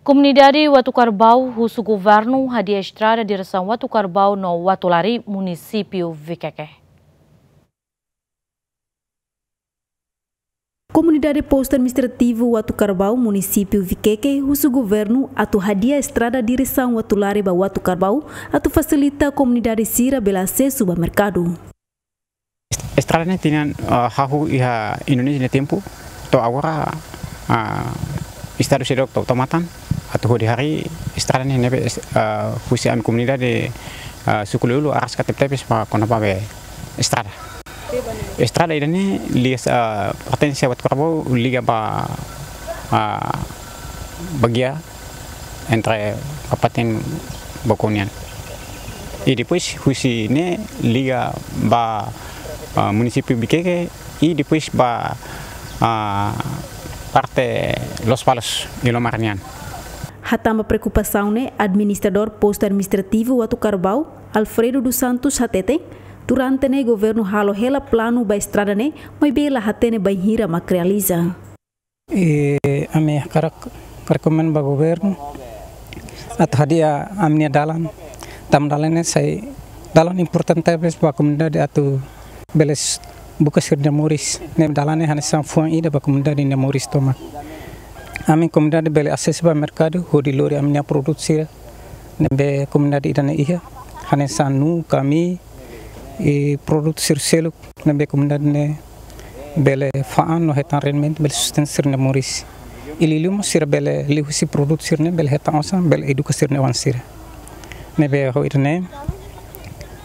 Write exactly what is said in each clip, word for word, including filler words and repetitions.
Komunidade Watu Karbau husu governu hadi'a estrada diresaun Watu Karbau no Watu Lari, munisípiu Vikeke. Komunidade Postu Administrativu Watu Karbau, munisípiu Vikeke, husu governu atu hadi'a estrada diresaun Watu Lari ba Watu Karbau, atu fasilita komunidade sira bele asesu ba merkadu. Estrada ne'e tinan, ah, hahú iha Indonézia nia tempu, to'o agora, ah, Estadu seidauk tau matan atu hodi harii estrada ne'e, ne'ebé, ah, husi ami komunidade, ah, suku Loiulo araska tebetebes ba kona-ba be estrada. Estrada ida-ne'e liga, ah, pertense Watu Karbau, liga ba, ah, Baguia entre Kabupaten Baucau nian. I depois husi ne'e liga ba, ah, munisípiu Vikeke i depois ba, ah, parte Lospalos, Ilomar nian. Hatán ba preokupasaun ne'e, Administradór Postu Administrativu Watu Karbau, Alfredo dos Santos, hateten, durante ne'e governu halo hela planu ba estrada ne'e, maibé la hatene bainhira mak realiza. I ami hakarak rekomenda ba governu atu hadi'a ami-nia dalan, tanba dalan ne'e sai dalan importante tebes ba komunidade atu bele s-, buka sira-nia moris. Ne'e dalan ne'e hanesan fuan ida ba komunidade nia moris tomak. Ami komunidade bele asesu ba merkadu hodi lori ami-nia produtu sira ne'ebé komunidade ida-ne'e iha, hanesan nuu, kamii, i produtu sira seluk ne'ebé komunidade ne'e bele fa'an no hetan rendimentu, bele sustenta sira-nia moris. I liuliu mós sira bele liuhusi produtu sira-ne'e bele hetan osan, bele eduka sira-nia oan sira. Ne'ebé ho ida-ne'e,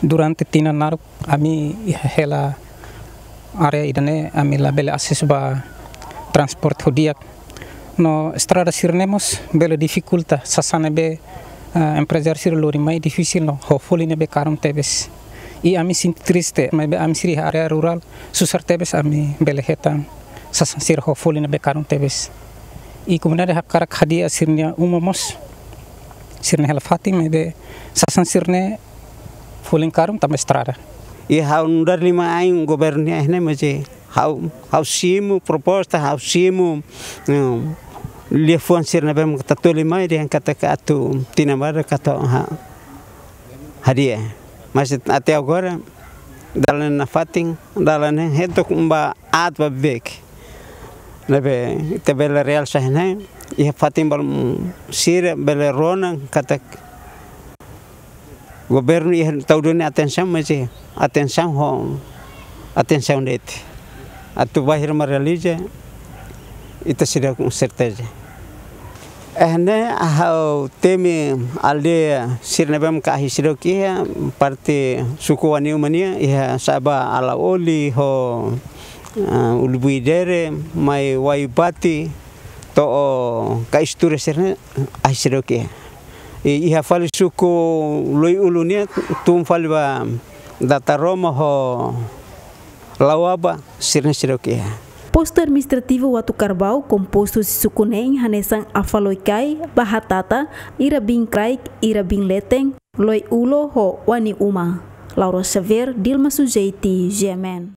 durante tinan naruk ami iha hela área ida-ne'e ami labele asesu ba transporte ho di'ak. No estrada sira-ne'e mós bele difikulta sasán ne'ebé, ah, emprezáriu sira lori mai difisil no ho folin ne'ebé karun tebes. I ami sente triste, maibé ami sira iha área rurál susar tebes ami bele hetan sasán sira ho folin ne'ebé karun tebes. I komunidade hakarak hadi'a sira-nia uma mós, sira-nia hela fatin, maibé sasán sira-ne'e folin karun tanba estrada. I ha'u nu'udar liman-ain governu nian ne'e, maibé ha'u, ha'u simu proposta, ha'u simu, eh, liafuan sira ne'ebé mak ita toli mai dehan katak atu tinan badak atu ha-, hadi'a. Mas até agora, dalan nafatin, dalan ne'e hetok ba aat ba beik. Ne'ebé ita bele realsa ne'e, iha fatin balun sira bele rona katak governu iha tau duni atensaun, mas iha atensaun ho atensaun de'it. Atu bainhira mak realiza, ita seidauk serteza. Eh, ne'e ha'u temi aldeia sira ne'ebé mak ahi seidauk iha, parte suku Wani Uma nian, iha Saba Alaoli ho, ah, Ulubui Dere, mai Waiubati, to'o Kaistura sira-ne'e ahi seidauk iha. I iha fali suku Loiulo nian, tun fali ba Dataroma ho Lauaba, sira-ne'e seidauk iha. Postu Administrativu Watu Karbau kompostu husi suku neen hanesan Afaloikai, Bahatata, Irabin Kraik, Irabin Leten, Loiulo ho Wani Uma. Laura Xavier, Dilma Sujeiti, G M N.